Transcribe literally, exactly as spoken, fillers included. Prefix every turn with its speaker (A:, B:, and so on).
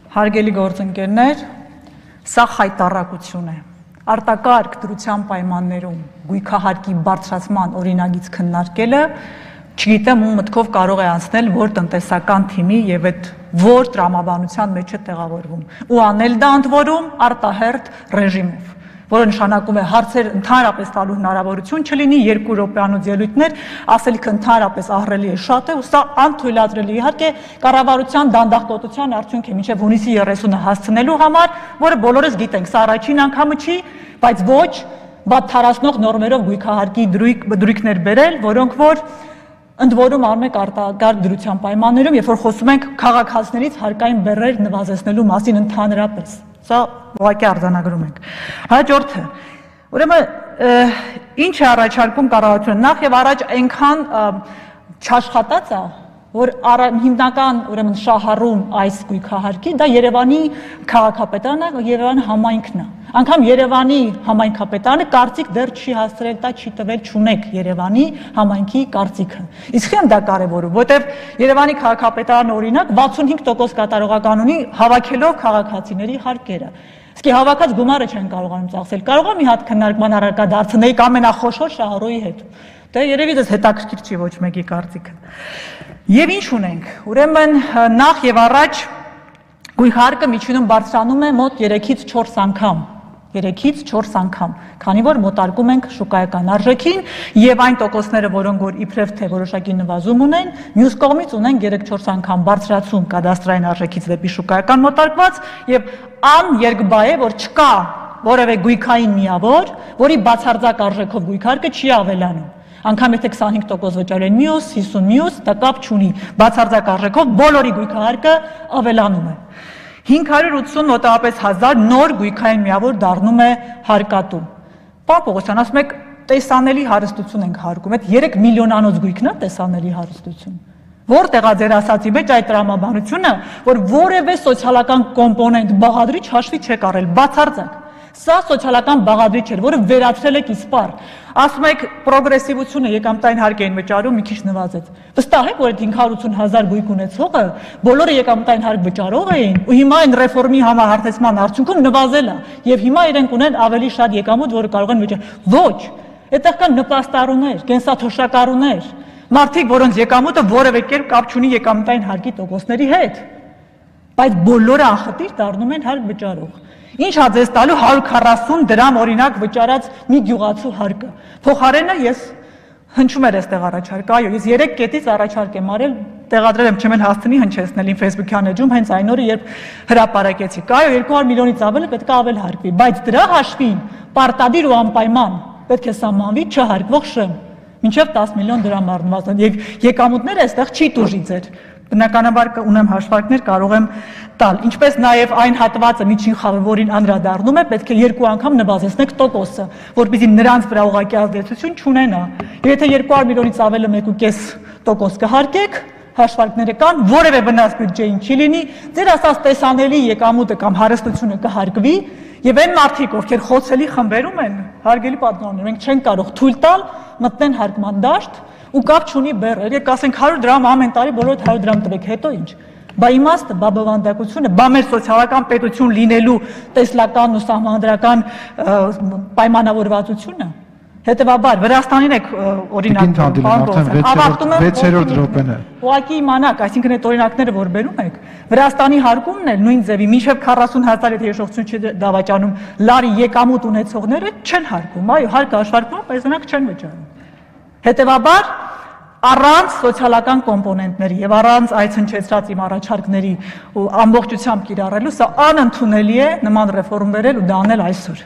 A: Հարգելի գործընկերներ, սա խայտառակություն է։ Արտակարգ դրության պայմաններում գույքահարկի բարձրացման օրինագիծ քննարկելը, չգիտեմ ում մտքով կարող է անցնել, որ տնտեսական թիմի եւ այդ որ տրամաբանության մեջ է տեղավորվում, ու անել դա ընդ որում արտահերթ ռեժիմով, որը նշանակում է հարցեր ընդհանրապես տալու հնարավորություն չլինի, երկու րոպեանոց ելույթներ, ասելիքը ընդհանրապես ահռելի է, շատ է, ու սա անթույլատրելի իհարկե կառավարության դանդաղկոտության արդյունք է մինչև հունիսի երեսունը հասցնելու համար, որը բոլորս գիտենք, սա առաջին անգամը չի, բայց ոչ բաթարացնող նորմերով գույքահարկի դրույքներ բերել, որոնք որ ընդ որում անում եք արտակարգ դրության պայմաններում, երբ որ խոսում ենք քաղաքացիներից հարկային բեռներ նվազեցնելու մասին ընդհանրապես։ Սա ուղղակի արձանագրում ենք։ Հաջորդը, ուրեմն ինչ է առաջարկում կառավարությունը, նախ եւ առաջ այնքան չաշխատած է, որ հիմնական ուրեմն շահառուն այս գույքահարկի դա Երևանի քաղաքապետարանը, Երևանի համայնքն է։ Անգամ Երևանի համայնքապետարանը կարծիք դեռ չի հասցրել, դա չի տվել, չունեք Երևանի համայնքի կարծիքը։ Իսկ եմ դա կարևորում, որտեվ Երևանի քաղաքապետարանը օրինակ վաթսունհինգ տոկոս կատարողական ունի հավաքելով քաղաքացիների հարկերը։ Իսկ հավաքած գումարը չեն կարողանում ծախսել։ Կարող է մի հատ քննարկման առարկա դարձնել ամենախոշոր շահառուի հետ։ Դե երևի դες հետաքրքիր չի ոչ մեկի կարծիքը։ Եվ ինչ ունենք։ Ուրեմն նախ եւ առաջ գույքահարկը միջինում բարձրանում է մոտ երեքից չորս անգամ։ երեքից չորս անգամ, քանի որ մոտարկում ենք շուկայական արժեքին եւ այն տոկոսները, որոնք որ իբրև թե որոշակի նվազում ունեն, մյուս կողմից ունեն երեք-չորս անգամ բարձրացում կադաստրային արժեքից դեպի շուկայական մոտարկված եւ աներկբա է, որ չկա որևէ գույքային միավոր, որի բացարձակ արժեքով գույքարկը չի ավելանում։ Անգամ եթե քսանհինգ տոկոս վճարել են մյուս, հիսուն մյուս, դա կապ չունի, բացարձակ արժեքով բոլորի գույքահարկը ավելանում է։ հինգ հարյուր ութսուն մոտավորապես հազար նոր գույքային միավոր դառնում է հարկատու։ Պարոն Պողոսյան, ասում եք տեսանելի հարստություն ենք հարկում, այդ երեք միլիոնանոց գույքն է տեսանելի հարստություն։ Որտեղ է ձեր ասացի մեջ այդ տրամաբանությունը, որ որևէ սոցիալական կոմպոնենտ բաղադրիչ հաշվի չեք առել, բացարձակ։ Սա սոցիալական բաղադրիչ էր, որը վերացրել եք իսպար։ Ասում եք պրոգրեսիվությունը եկամտային հարկ էին վճարում, մի քիչ նվազեց։ Վստահ եք, որ այդ հինգ հարյուր ութսուն հազար գույք ունեցողը բոլորը եկամտային հարկ վճարող էին, ու հիմա այն ռեֆորմի համահարթեցման արդյունքում նվազել է, եւ հիմա իրենք ունեն ավելի շատ եկամուտ, որը կարող են վճարել։ Ոչ, այդտեղ կան նպաստառուներ, կենսաթոշակառուներ, մարդիկ, որոնց եկամուտը որևէ կերպ կապ չունի եկամտային հարկի տոկոսների հետ, բայց բոլորը անխտիր դառնում են հարկ վճարող։ Ինչ հա ձեզ տալու հարյուր քառասուն դրամ օրինակ վճարած մի գյուղացու հարկը։ Փոխարենը ես հնչում էր այստեղ առաջարկ, այո, ես երեք կետից առաջարկ եմ արել, տեղադրել եմ չեմ էլ հասցնի հնչեցնել իմ Facebook-յան էջում հենց այն օրը, երբ հրապարակեցի։ Այո, երկու հարյուր միլիոնից ավելի պետք է ավել հարկվի, բայց դրա հաշվին պարտադիր ու անպայման պետք է սահմանվի չհարկվող շեմ, մինչև տասը միլիոն դրամ առնվազն, եւ եկամուտները այստեղ չի տուժի ձեր։ Բնականաբար ունեմ հաշվարկներ, կարող եմ տալ, ինչպես նաև այն հատվածը միջին խավը, որին անդրադառնում է, պետք է երկու անգամ նվազեցնեք տոկոսը, որպեսզի նրանց վրա ուղղակի ազդեցություն չունենա։ Եվ եթե երկու հարյուր միլիոնից ավել մեկ ու կես տոկոս կհարկեք, հաշվարկները կան, որևէ վնաս բյուջեին չի լինի, ձեր ասած տեսանելի եկամուտը կամ հարստությունը կհարկվի, եւ այն մարդիկ, ովքեր խոցելի խմբերում են, հարգելի պատգամներ, մենք չենք կարող թույլ տալ մտնեն հարկման դաշտ ու կապ չունի բեռ, եկեք ասենք հարյուր դրամ ամեն տարի բոլորդ հարյուր դրամ տվեք, հետո ինչ։ Բա իմաստը, բա բովանդակությունը, բա մեր սոցիալական պետություն լինելու տեսլական ու սահմանադրական պայմանավորվածությունը։ Հետևաբար Վրաստանին եք օրինակ ավարտում եմ
B: վեցերորդ րոպեն է։
A: Ուղղակի իմանաք, այսինքն այդ օրինակները որ բերում եք, Վրաստանի հարկումն էլ նույն ձևի մինչև քառասուն հազար եթե հիշողություն չի դավաճանում լարի եկամուտ ունեցողները չեն հարկում, այո, հարկը հաշվարկվում, բայց նրանք չեն վճարում։ Հետևաբար առանց սոցիալական կոմպոնենտների եւ առանց այս հնչեցրած իմ առաջարկների ու ամբողջությամբ կիրառելու սա անընդունելի է նման ռեֆորմ վերել ու դա անել այսօր։